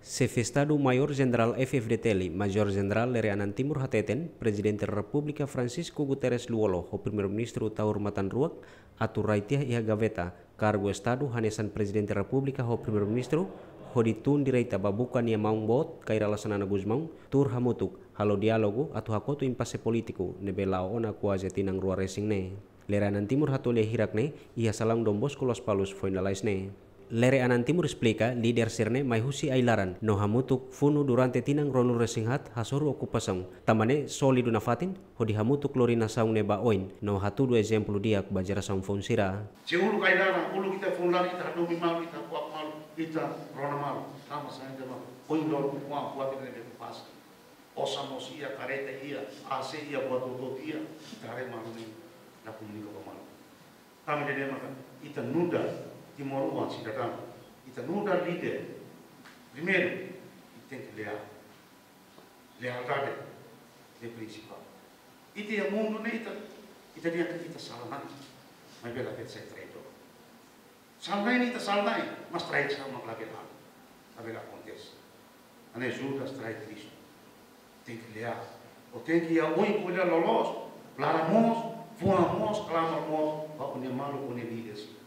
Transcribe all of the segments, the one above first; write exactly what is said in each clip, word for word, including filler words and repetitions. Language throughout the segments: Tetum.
Xefe Estadu Maiór Jenerál F-FDTL, Major Jenerál Lere Anan Timur hateten, Prezidente Repúblika Francisco Guterres Lú-Olo ho Primeiru-Ministru Taur Matan Ruak atu rai tiha iha gaveta kargu Estadu hanesan Prezidente Repúblika ho Primeiru-Ministru, hodi tun direta ba buka nia maun boot Kay Rala Xanana Gusmão, tuur hamutuk halo diálogu atu hakotu impase polítiku ne'ebé la'o ona kuaze tinan rua resin ne'e. Lere Anan Timur hato'o lia hirak ne'e iha salaun Don Bosco Lospalos foin lalais ne'e. Lere Anan Timur esplika, líder sira-ne'e mai husi ai-laran no hamutuk funu durante tinan ruanulu resin haat hasoru okupasaun. Tanba ne'e sólidu nafatin hodi hamutuk lori nasaun ne'e ba oin no hatudu ezemplu di'ak ba jerasaun foun sira. Se uluk ai-laran, uluk ita funu laran, ita hadomi malu, ita hakuak malu, ita rona malu. Tanba sá ita malu? Ohin loron kuak, kuak ita ne'ebé pasa. Osan mós iha, kareta iha, A C iha, buat hotu-hotu iha, ita haree malu ne'e la komunika ba malu. Tanba ida-ne'e maka ita nu'udar timoroan sidadaun, ita nu'udar líder, primeiru, ita tenke leál. Lealdade ne'e prinsipál. Ita iha mundu ne'e ita, ita dehan katak ita sala-na'in, maibé labele sai traidór. Sala-na'in ita sala-na'in, mas traidór sama labele halo, labele akontese. Hanesan Judas trai Kristu. Tenke leál. Ó tenke iha oin ko'alia loloos, laran moos, fuan moos, klamar moos ba ó-nia maluk, ó-nia líder sira.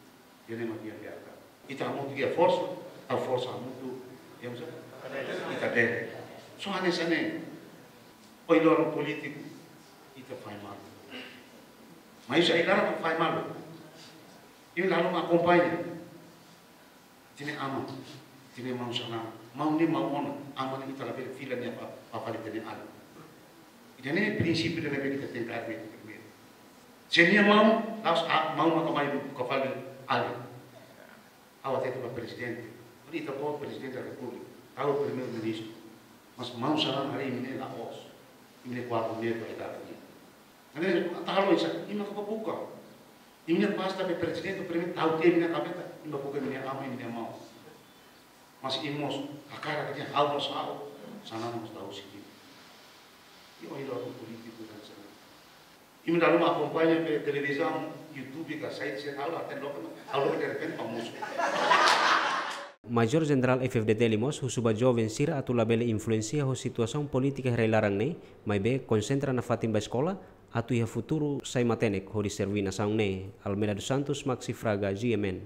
Ida-ne'e mak dehan lealdade. Ita hamutuk iha forsa, tau forsa hamutuk, ita bele. Só hanesan ne'e. Ohin loron polítiku, ita fahe malu. Mas ai-laran fahe malu. Imi la haluha akompaña. Ita-nia aman, ita-nia maun Xanana, maun ne'e maun ona, aman ne'e ita labele fila nia ba, ba fali ita-nia alin. Ida-ne'e prinsípiu ida ne'ebé ita tenke haree primeiru. Se nia maun, la'ós a, maun maka mai buka fali alin. Ha'u hatete ba prezidente, ita-boot Prezidente Repúblika, ha'u Primeiru-Ministru. Mas maun Xanana harii imi-nia la'ós, imi-nia kuadru ne'e ba ita nian. Entaun, ita halo oinsá, imi maka bá buka. Imi-nia pasta be prezidente, primeiru tau tiha imi-nia gaveta, imi bá buka imi-nia aman, imi-nia maun. Mas imi mós hakarak dehan ha'u mós ha'u, Xanana mós tau sini. Ida-ne'e ohin loron polítiku hanesan ne'e. Imi la haluha akompaña be televizaun, YouTube ka site sira, ha'u la hatene loke, ha'u loke derrepente famozu. Major Jenerál F-FDTL mós husu ba joven sira atu labele influensia ho situasaun polítika iha rai-laran ne'e, maibé konsentra nafatin ba eskola, atu iha futuru sai matenek hodi serví nasaun ne'e. Almeida dos Santos, Maxi Fraga, G M N.